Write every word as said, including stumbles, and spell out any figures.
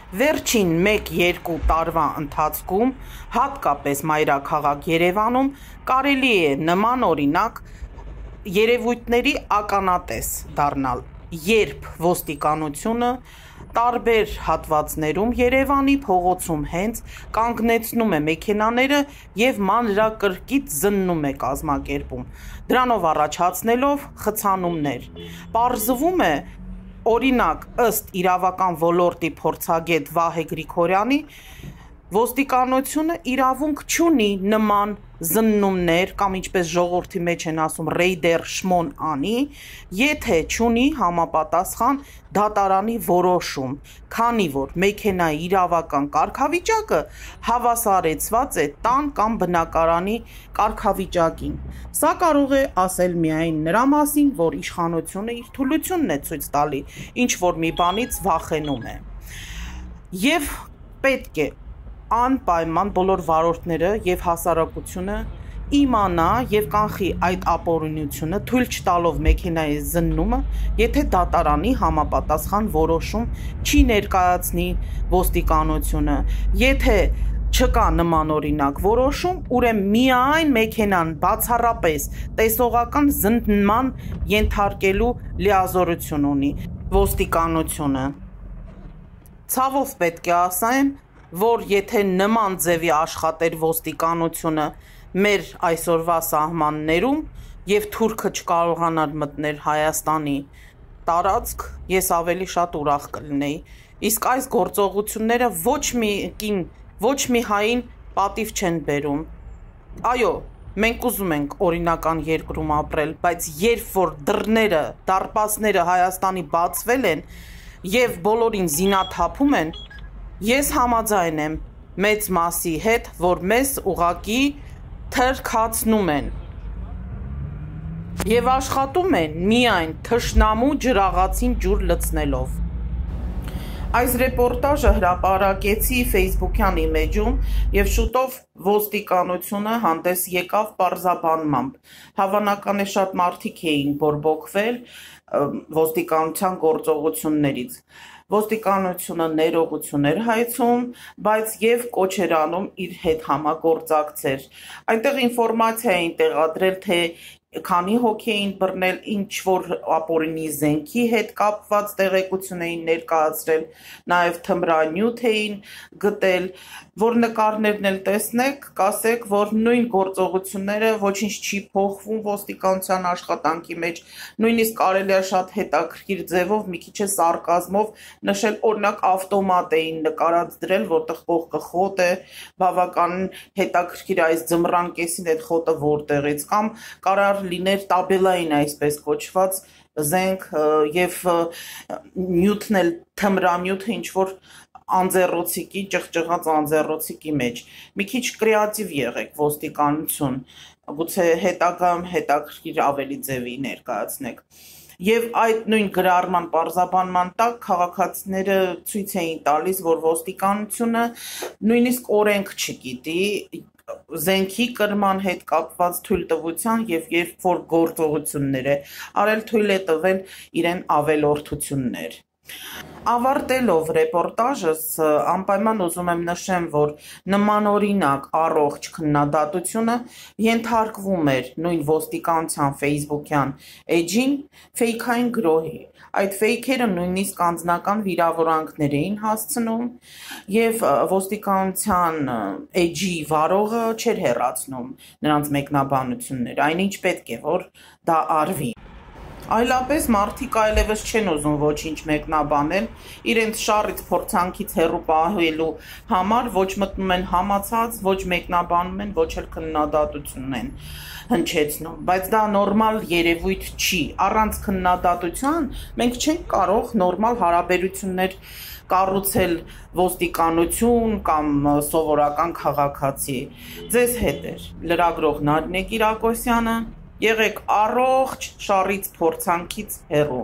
Վերջին մեկ-երկու տարվա ընթացքում, հատկապես մայրաքաղաք Երևանում, կարելի է նման օրինակ երևույթների ականատես դառնալ, երբ ոստիկանությունը տարբեր հատվածներում Երևանի փողոցում հենց կանգնեցնում է մեքենաները և մանրակրկիտ զննում է կազմակերպում, դրանով առաջացնելով խցանումներ։ Պարզվում է, օրինակ, ըստ իրավական ոլորտի փորձագետ Վահե Գրիգորյանի, ոստիկանությունը իրավունք չունի նման զննումներ կամ ինչպես ժողովրդի մեջ են ասում ռեյդեր շմոն անի, եթե չունի համապատասխան դատարանի որոշում, քանի որ մեքենայի իրավական կարգավիճակը հավասարեցված է տան կամ բնակարանի կարգավիճակին։ Սա կարող է ասել միայն նրա մասին, որ իշխանությունը իր թուլությունն է ցույց տալի, ինչ որ մի բանից վախենում է։ Եվ պետք է անպայման բոլոր վարորդները և հասարակությունը իմանա և կանխի այդ ապօրինությունը, թույլ չտալով մեքենայի զննումը, եթե դատարանի համապատասխան որոշում չի ներկայացնի ոստիկանությունը, եթե չկա նման օրինակ որոշում, ուրեմն միայն մեքենան բացառապես տեսողական զննման ենթարկելու լիազորություն ունի ոստիկանությունը։ Ցավով պետք է ասեմ, որ եթե նման ձևի աշխատեր ոստիկանությունը մեր այսօրվա սահմաններում և թուրքը չկարողանար մտնել Հայաստանի տարածք, ես ավելի շատ ուրախ կլինեի, իսկ այս գործողությունները ոչ մի կին, ոչ մի հային պատիվ չեն բերում։ Այո, մենք ուզում ենք օրինական երկրում ապրել, բայց երբ որ դռները, դարպասները Հայաստանի բացվել են և բոլորին զինաթափում են, ես համաձայն եմ մեծ մասի հետ, որ մեզ ուղղակի թրքացնում են և աշխատում են միայն թշնամու ջրաղացին ջուր լցնելով։ Այս ռեպորտաժը հրապարակեցի ֆեյսբուքյան իմեջում և շուտով ոստիկանությունը հանդես եկավ պարզաբանմամբ։ Հավանական է շատ մարդիկ էին բորբոքվել ոստիկանության գործողություններից։ Ոստիկանությունը ներողություն էր հայցում, բայց և կոչ էր անում իր հետ համագործակցել։ Այնտեղ ինֆորմացիա էին տեղադրել, թե քանի հոգի էին բռնել, ինչ որ ապօրինի զենքի հետ կապված տեղեկություն էին ներկայացրել, նաև թմրանյութ էին գտել, որ նկարներն էլ տեսնեք, կասեք, որ նույն գործողությունները ոչինչ չի փոխվում ոստիկանության աշխատանքի մեջ, նույնիսկ կարելի է շատ հետաքրքիր ձևով, մի քիչ է սարկազմով նշել, օրինակ ավտոմատ էին նկարած դրել, որտեղ կողքը խոտ է, բավականին հետաքրքիր այս ձմռան կեսին այդ խոտը որտեղից, կամ կարար լիներ տաբելային այսպես կոչված զենք և նյութն էլ թմրանյութը ինչ-որ անձեռոցիկի, ճղճղած անձեռոցիկի մեջ։ Մի քիչ կրեատիվ եղեք ոստիկանություն, գուցե հետագայում հետաքրքիր ավելի ձևի ներկայացնեք։ Եվ այդ նույն գրառման պարզաբանման տակ քաղաքացիները ցույց էին տալիս, որ ոստիկանությունը նույնիսկ օրենք չգիտի զենքի կրման հետ կապված թույլտվության և երբ որ գործողություններ է արել, թույլ է տվել իրեն ավելորդություններ։ Ավարտելով ռեպորտաժս, անպայման ուզում եմ նշեմ, որ նմանօրինակ առողջ քննադատությունը ենթարկվում էր նույն ոստիկանության ֆեյսբուքյան էջին ֆեյքային գրոհի։ Այդ ֆեյքերը նույնիսկ անձնական վիրավորանքներ էին հասցնում և ոստիկանության էջի վարողը չէր հեռացնում նրանց մեկնաբանությունները, այնինչ պետք է, որ դա արվի։ Այլապես մարդիկ այլևս չեն ուզում ոչինչ մեկնաբանել, իրենց շառից փորձանքից հեռու պահելու համար ոչ մտնում են համացած, ոչ մեկնաբանում են, ոչ էլ քննադատություն են հնչեցնում, բայց դա նորմալ երևույթ չի, առանց քննադատության մենք չենք կարող նորմալ հարաբերություններ կառուցել ոստիկանություն կամ սովորական քաղաքացի։ Ձեզ հետ էր լրագրող Նարինե Կիրակոսյանը, եղեք առողջ, շառից փորձանքից հեռու։